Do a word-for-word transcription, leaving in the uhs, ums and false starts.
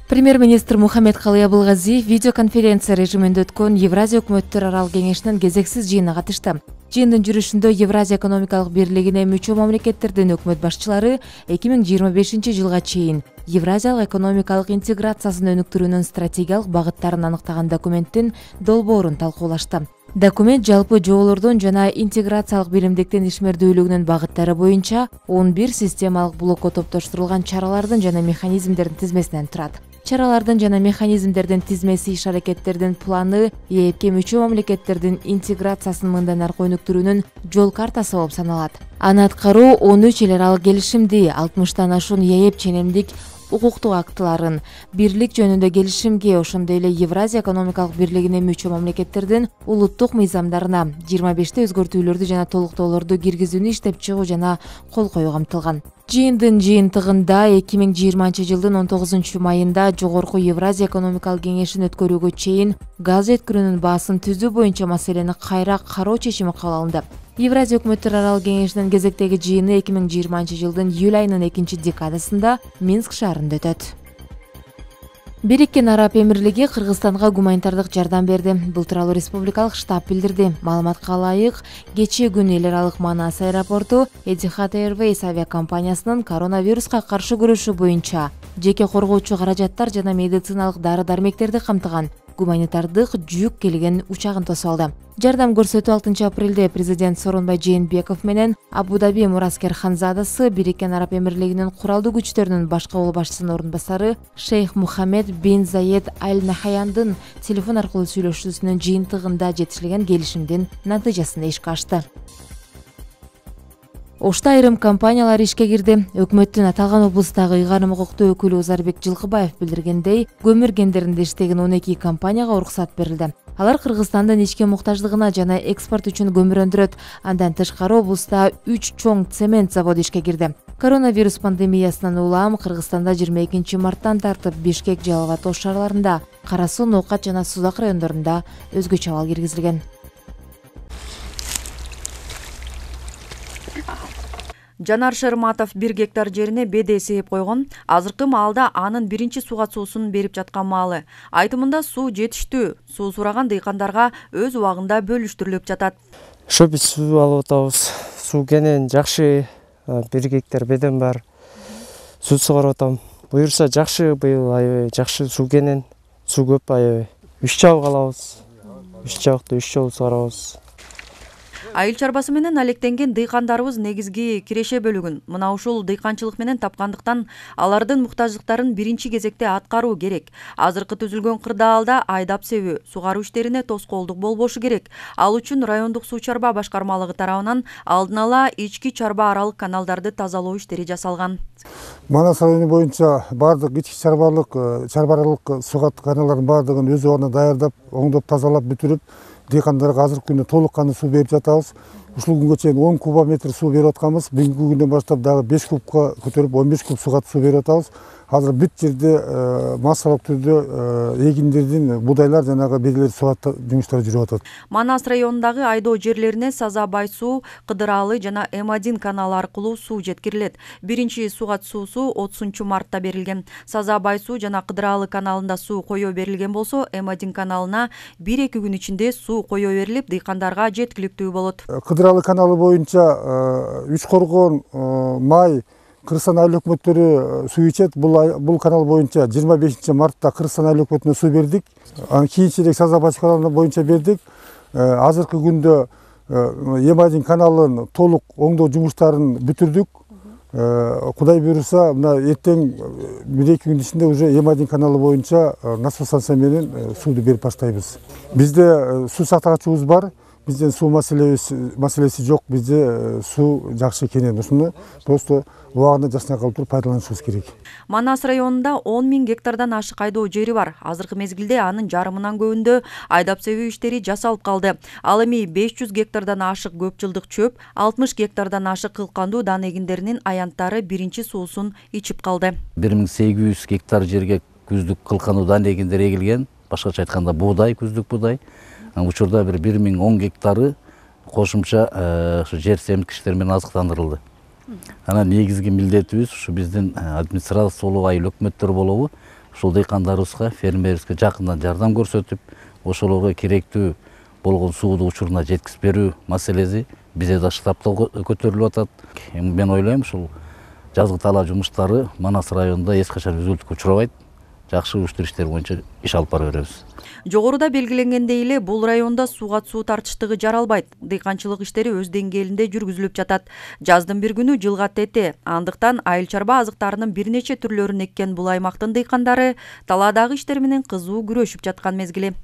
Премьер-министр Мухаммед-Калый Абылгазиев видеоконференция режиминде өткөн Евразия өкмөттөр аралык кеңешинин кезексиз жыйынына катышты. Жыйындын жүрүшүндө Евразия экономикалык бирлигине мүчө мамлекеттердин өкмөт башчылары эки миң жыйырма бешинчи жылга чейин Евразиялык экономикалык интеграциясын өнүктүрүүнүн стратегиялык багыттарын аныктаган документтин долбоорун талкуулашты. Документ жалпы жоболордун жана интеграциялык биримдиктин ишмердүүлүгүнүн багыттары боюнча он бир системалык блокко топтоштурулган чаралардын жана механизмдердин тизмесинен турат. Чаралардын жана механизмдердин тизмеси иш-аракеттердин планы ЕЭПке мүчө мамлекеттердин интеграциясын мындан аркы өнүктүрүүнүн жол картасы болуп саналат. Аны аткаруу он үч эл аралык келишимди, алтымыштан ашуун ЕЭП ченемдик укуктук актыларын, бирлик жөнүндө келишимге, ошондой эле Евразия экономикалык бирлигине мүчө мамлекеттердин улуттук мыйзамдарына жыйырма беште өзгөртүүлөрдү жана толуктоолорду киргизүүнү иштеп чыгуу жана кол коюу камтылган. Жыйындын жыйынтыгында эки миң жыйырманчы жылдын он тогузунчу майында Жогорку Евразия экономикалык кеңешин өткөрүүгө чейин газ жеткирүүнүн баасын түзүү боюнча маселени кайра кароо чечими кабыл алынды. Евразия өкмөттөр аралык кеңешинин кезектеги жыйыны эки миң жыйырманчы жылдын июль айынын экинчи декадасында Минск шаарында өтөт. Бириккен Араб Эмирлиги Кыргызстанга гуманитардык жардам берди. Бул тууралуу республикалык штаб билдирди. Маалыматка ылайык, кечээ күнү эл аралык Манас аэропорту Etihad Airways авиакомпаниясынын коронавируска каршы күрөшүү боюнча жеке коргоочу каражаттар жана медициналык дары-дармектерди камтыган гуманитардык жүк келген учагын тосуп алды. Жардам көрсөтүү алтынчы апрелде президент Сооронбай Жээнбеков менен Абу-Даби Мураскер Ханзадасы Бириккен Араб Эмирлигинин куралдуу күчтөрүнүн башкы кол башчысынын орун басары Шейх Мухаммед бин Заед Аль Нахаяндын телефон аркылуу сүйлөшүүсүнүн жыйынтыгында жетишилген келишимдин натыйжасын эшикке ачты. Ошто айрым компаниялар ишке кирди. Өкмөттүн аталган облустагы ыйгарым укуктуу өкүлү Узарбек Жылкыбаев билдиргендей, көмүр кендеринде иштеген он эки компанияга уруксат берилди. Алар Кыргызстандын ички муктаждыгына жана экспорт үчүн көмүр өндүрөт. Андан тышкары облуста үч чоң цемент заводу ишке кирди. Коронавирус пандемиясынан улам Кыргызстанда жыйырма экинчи марттан тартып Бишкек, Жалал Абад ош шаарларында, Кара Суу, Ноокат жана Сузак райондорунда өзгөчө абал киргизилген. Жанар Шерматов бир гектар жерине беде сээп койгон. Азыркы маалда анын биринчи сууга суусун берип жаткан маалы. Айтымында суу жетиштүү. Суу сураган дыйкандарга өз убагында бөлүштүрүлүп жатат. Ошо биз суу алып атабыз. Суу кенен жакшы, бир гектар бедем бар. Суу сугарып атам. Буюрса жакшы, быйыл аябай жакшы суу кенен. Суу көп аябай. Үч жабык алабыз. Үч жабыкты үч жолу сугарабыз. Айыл чарбасы менен алектенген дыйкандарыбыз негизги киреше бөлүгүн мына ушул дыйканчылык менен тапкандыктан алардын муктаждыктарын биринчи кезекте аткаруу керек. Азыркы түзүлгөн кырдаалда айдап себүү, сугаруу иштерине тоскоолдук болбошу керек. Ал үчүн райондук суу чарба башкармалыгы тарабынан алдын ала ички чарба аралык каналдарды тазалоо иштери жасалган. Манас району боюнча бардык ички чарбалык, чарба аралык суу каналдарын бардыгын өз убагында даярдап, оңдоп тазалап бүтүрүп, дыйкандарга азыркы күндө толук кандуу суу берип жатабыз. Ушул күнгө чейин он кубометр суу берип атканбыз. Бүгүнкү күндөн баштап дагы беш кубка көтөрүп он беш куб сууга суу берип атабыз. Азыр бүт жерде массалык түрдө эгиндердин будайлар жанагы бедилер суу жумуштары жүрүп атат. Манас районундагы айдоо жерлерине Саза Бай суу, Кыдыралы жана эм один каналы аркылуу суу жеткирилет. Биринчи сууга суусу отузунчу мартта берилген. Саза Бай суу жана Кыдыралы каналында суу коё берилген болсо, эм один каналына бир эки күн ичинде суу коё берилип, дыйкандарга жеткиликтүү болот. Кыдыралы каналы боюнча Үч Коргон, Май Кыргызстан айыл өкмөттөрү суу ичет. Бул канал боюнча жыйырма бешинчи мартта Кыргызстан айыл өкмөтүнө суу бердик. Анан кийинчерээк Саза Бай каналы боюнча бердик. Азыркы күндө эм один каналын толук оңдоо жумуштарын бүтүрдүк. Кудай буйруса, мына эртең бир эки күн ичинде уже эм один каналы боюнча насос станция менен сууду берип баштайбыз. Бизде суу сактагычыбыз бар. Бизден суу маселеси жок. Бизде суу жакшы кенен. Ушуну просто убагында жасай калып туруп пайдаланышыбыз керек. Манас районунда он миң гектардан ашык айдоо жери бар. Азыркы мезгилде анын жарымынан көбүндө айдап себүү иштери жасалып калды. Ал эми беш жүз гектардан ашык көп жылдык чөп, алтымыш гектардан ашык кылкандуу дан эгиндеринин аянттары биринчи суусун ичип калды. бир миң сегиз жүз гектар жерге күздүк кылкандуу дан эгиндери эгилген. Башкача айтканда буудай, күздүк буудай. Учурда бир бир миң он гектары кошумча жер семткичтер менен азыктандырылды. Анан негизги милдетибиз ушу биздин администрациялык айыл өкмөттөр болобу, ушул дыйкандарыбызга, фермерибизге жакындан жардам көрсөтүп, ошолорго керектүү болгон сууду учуруна жеткизип берүү маселеси бизде да штабта көтөрүлүп атат. Мен ойлойм, ушул жазгы талаа жумуштары Манас районунда эч качан үзүлтүккө учурабайт. Жакшы уюштур иштер боюнча иш алып бара беребиз. Жогоруда белгиленгендей эле бул районда сууга суу тартыштыгы жаралбайт. Дыйканчылык иштери өз деңгээлинде жүргүзүлүп жатат. Жаздын бир күнү жылга тете. Андыктан айыл чарба азыктарынын бир нече түрлөрүн эккен бул аймактын дыйкандары талаадагы иштер менен кызуу күрөшүп жаткан мезгили.